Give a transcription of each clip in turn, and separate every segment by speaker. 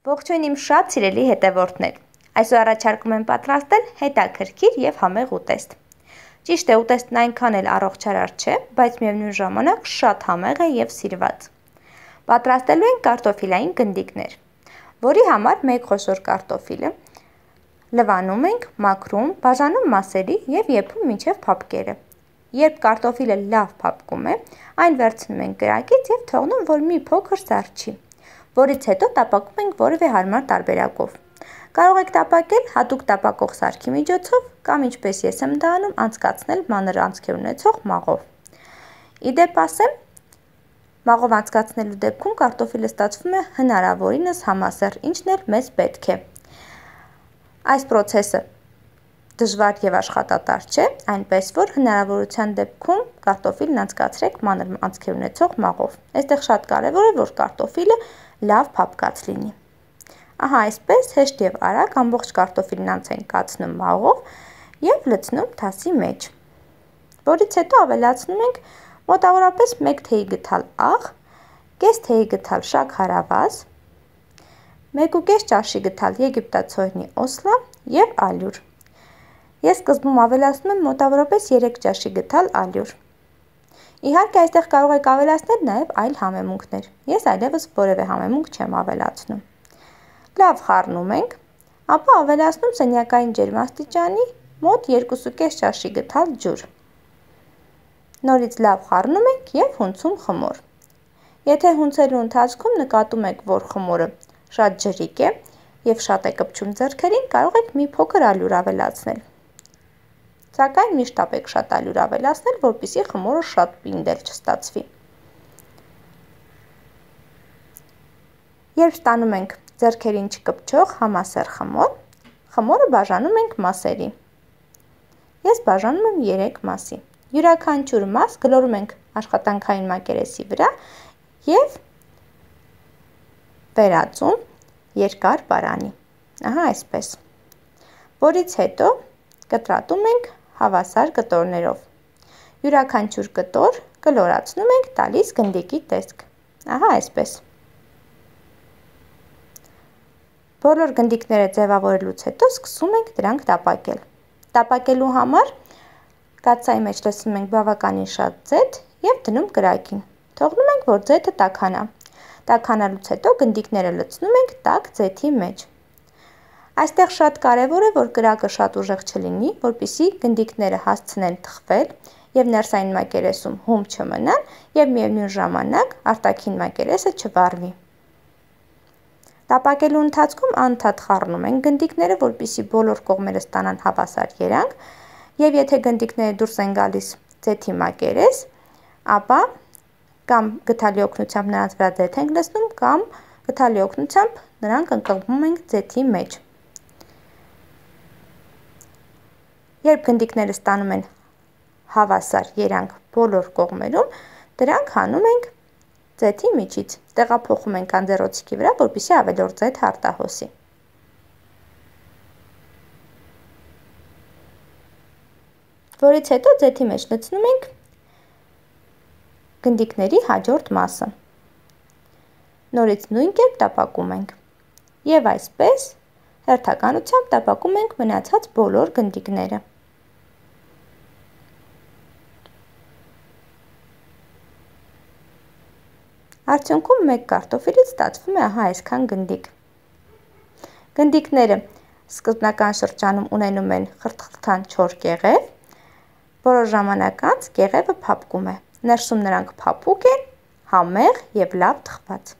Speaker 1: Ողջույն իմ շատ սիրելի հետևորդներ, այսօր առաջարկում եմ պատրաստել հետաքրքիր և համեղ ուտեստ։ Ճիշտ է, ուտեստն այնքան էլ առողջարար չէ, բայց միևնույն ժամանակ շատ համեղ է և սիրված։ Պատրաստելու ենք կարտոֆիլային գնդիկներ, որի համար մեկ խոշոր կարտոֆիլը լվանում ենք, մաքրում, բաժանում մասերի և եփում մինչև փափկերը։ Երբ կարտոֆիլը լավ փափկում է, այն վերցնում ենք կրակից և թողնում, որ մի փոքր զարչի, որից հետո տապակում ենք որևէ հարմար տարբերակով։ Կարող եք տապակել հատուկ տապակող սարքի միջոցով կամ ինչպես ես եմ դա անում, անցկացնել մանր անցքեր ունեցող մաղով։ Ի դեպ ասեմ, մաղով անցկացնելու դեպքում կարտոֆիլը ստացվում է հնարավորինս համասեռ, ինչն էլ մեզ պետք է։ Այս պրոցեսը դժվար և աշխատատար չէ, այնպես որ հնարավորության դեպքում կարտոֆիլն անցկացրեք մանր անցքեր ունեցող մաղով։ Այստեղ շատ կարևոր է, որ կարտոֆիլը լավ փափկած լինի։ Ահա այսպես հեշտ և արագ ամբողջ կարտոֆիլն անց ենք կացնում մաղով և լցնում թասի մեջ, որից հետո ավելացնում ենք մոտավորապես 1 թեյի գդալ աղ, կես թեյի գդալ շաքարավազ, 1,5 ճաշի գդալ եգիպտացորենի օսլա և ալյուր։ Ես սկզբում ավելացնում եմ մոտավորապես 3 ճաշի գդալ ալյուր։ Իհարկե այստեղ կարող եք ավելացնել նաև այլ համեմունքներ, ես այլևս որևէ համեմունք չեմ ավելացնում։ Լավ խառնում ենք, ապա ավելացնում սենյակային ջերմաստիճանի մոտ 2,5 ճաշի գդալ ջուր։ Նորից լավ խառնում ենք և հունցում խմոր։ Եթե հունցելու ընթացքում նկատում եք, որ խմորը շատ ջրիկ է և շատ է կպչում ձեռքերին, կարող եք մի փոքր ալյուր ավելացնել։ Սակայն միշտ ապեք շատ ալյուր ավելացնել, որպեսզի խմորը շատ պինդել չստացվի։ Երբ ստանում ենք ձեռքերին չկպչող համասեռ խմոր, խմորը բաժանում ենք մասերի։ Ես բաժանում եմ 3 մասի։ Յուրաքանչյուր մաս գլորում ենք աշխատանքային մակերեսի վրա և վերածում երկար պարանի։ Ահա այսպես։ Որից հետո կտրատում ենք հավասար կտորներով։ Յուրաքանչյուր կտոր կլորացնում ենք տալիս գնդիկի տեսք։ Ահա այսպես։ Բոլոր գնդիկները ձևավորելուց հետո սկսում ենք դրանք տապակել։ Տապակելու համար կաթսայի մեջ լցնում ենք բավականին շատ ձեթ և դնում կրակին։ Թողնում ենք, որ ձեթը տաքանա։ Տաքանալուց հետո գնդիկները լցնում ենք տաք ձեթի մեջ։ Այստեղ շատ կարևոր է, որ կրակը շատ ուժեղ չլինի, որպեսզի գնդիկները հասցնեն թխվել և ներսային մակերեսում հում չմնան և միևնույն ժամանակ արտաքին մակերեսը չվառվի։ Տապակելու ընթացքում անընդհատ խառնում ենք գնդիկները, որպեսզի բոլոր կողմերը ստանան հավասար երանգ, և եթե գնդիկները դուրս են գալիս ձեթի մակերես, ապա կամ գդալի օգնությամբ նրանց վրա ձեթ ենք լցնում, կամ գդալի օգնությամբ նրանք ընկղմում ենք ձեթի մեջ։ Երբ գնդիկները ստանում են հավասար երանգ բոլոր կողմերում, դրանք հանում ենք ձեթի միջից, տեղափոխում ենք անձեռոցիկի վրա, որպեսզի ավելորդ ձեթը արտահոսի։ Որից հետո ձեթի մեջ լցնում ենք գնդիկների հաջորդ մասը։ Նորից նույն կերպ տապակում ենք։ Եվ այսպես հերթականությամբ տապակում ենք մնացած բոլոր գնդիկները։ Արդյունքում մեկ կարտոֆիլից ստացվում է ահա այսքան գնդիկ։ Գնդիկները սկզբնական շրջանում ունենում են խրթխրթան չոր կեղև, որոշ ժամանակ անց կեղևը փափկում է, ներսում նրանք փափուկ են, համեղ և լավ թխված։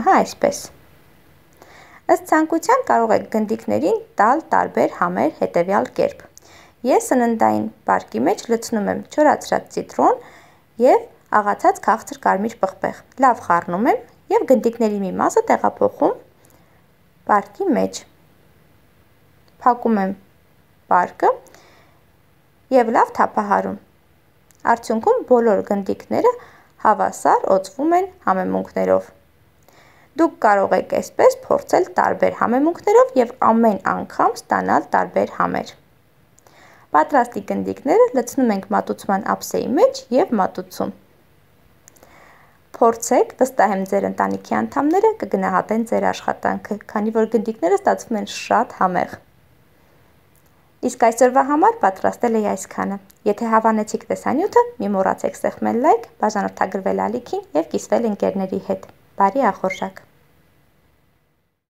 Speaker 1: Ահա այսպես։ Ըստ ցանկության կարող եք գնդիկներին տալ տարբեր համեր հետևյալ կերպ։ Ես սննդային պարկի մեջ լցնում եմ չորացրած ցիտրոն և աղացած քաղցր կարմիր պղպեղ, լավ խառնում եմ և գնդիկների մի մասը տեղափոխում պարկի մեջ։ Փակում եմ պարկը և լավ թափահարում։ Արդյունքում բոլոր գնդիկները հավասար օծվում են համեմունքներով։ Դուք կարող եք այսպես փորձել տարբեր համեմունքներով և ամեն անգամ ստանալ տարբեր համեր։ Պատրաստի գնդիկները լցնում ենք մատուցման ափսեի մեջ և մատուցում։ Փորձեք, վստահ եմ ձեր ընտանիքի անդամները կգնահատեն ձեր աշխատանքը, քանի որ գնդիկները ստացվում են շատ համեղ։ Իսկ այսօրվա համար պատրաստել էի այսքանը։ Եթե հավանեցիք տեսանյութը, մի մոռացեք սեղմել լայք, բաժանորդագրվել ալիքին և կիսվել ընկերների հետ։ Բարի ախորժակ։